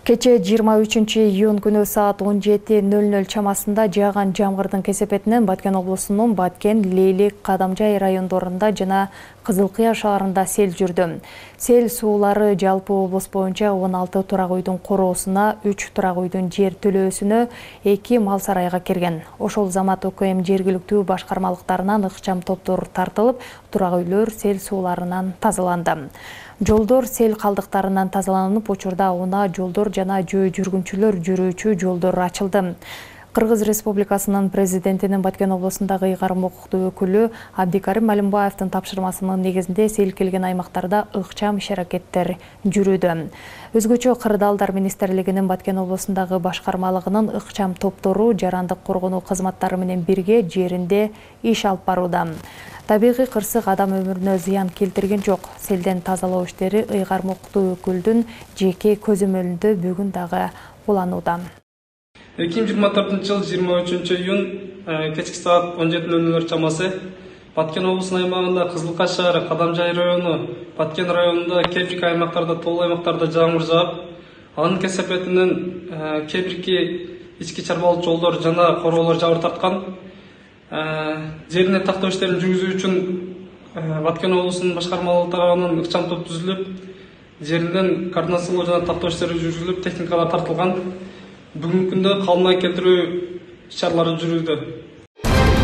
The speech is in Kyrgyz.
Кече 23-июнь күнү саат 17:00 чамасында жааган жамгырдын кесепетинен Баткен облусунун Баткен, Лейлик, Кадамжай райондорунда жана Кызыл Кыя шаарында сел жүрдү. Сел суулары жалпы облус боюнча 16 турак үйдүн короосуна, 3 турак үйдүн жер төлөөсүнө, 2 мал сарайга кирген. Ошол замат УКМ жергиликтүү башкармалыктарынан ыкчам топтор тартылып, турак үйлөр сел сууларынан тазаланды. Жолдор сел калдыктарынан тазаланып, учурда унаа жолдор жана жөө жүргүнчүлөр жүрүүчү жолдор ачылды. Кыргыз Республикасынын президентинин Баткен облусундагы ыйгарым укуктуу өкүлү Абдикарим Алимбаевдин тапшырмасынын негизинде сел келген аймактарда ыкчам иш-аракеттер жүрүүдө. Өзгөчө Кырдаалдар министрлигинин Баткен облусундагы башкармалыгынын ыкчам топтору жарандык коргонуу кызматтары менен бирге жеринде иш алып барууда. Табигый кырсык адам өмүрүнө зыян келтирген жок. Селден тазалоо иштери ыйгарым укуктуу өкүлдүн жеке көзөмөлүндө бүгүн дагы уланууда. 2024 жыл 23-июнь кечки саат 17:00 чамасы Баткен облусунун аймагында Кызыл Кыя шаары, Кадамжай району, Баткен районунда кээ бирки аймактарда, тоол аймактарда жамгыр жаап, анын кесепетинен кээ бирки ички чарбалык жолдор жана короолор жабыр тарткан. Жерине тактоо иштерин жүргүзүү үчүн Баткен облусунун башкармалыгы тарабынан ыкчам топ түзүлүп, жеринен координациялоо жана тактоо иштери жүргүзүлүп, техникалар тартылган. Бүгүнкү күндө калмай келтирүү иш-чаралары жүрүүдө.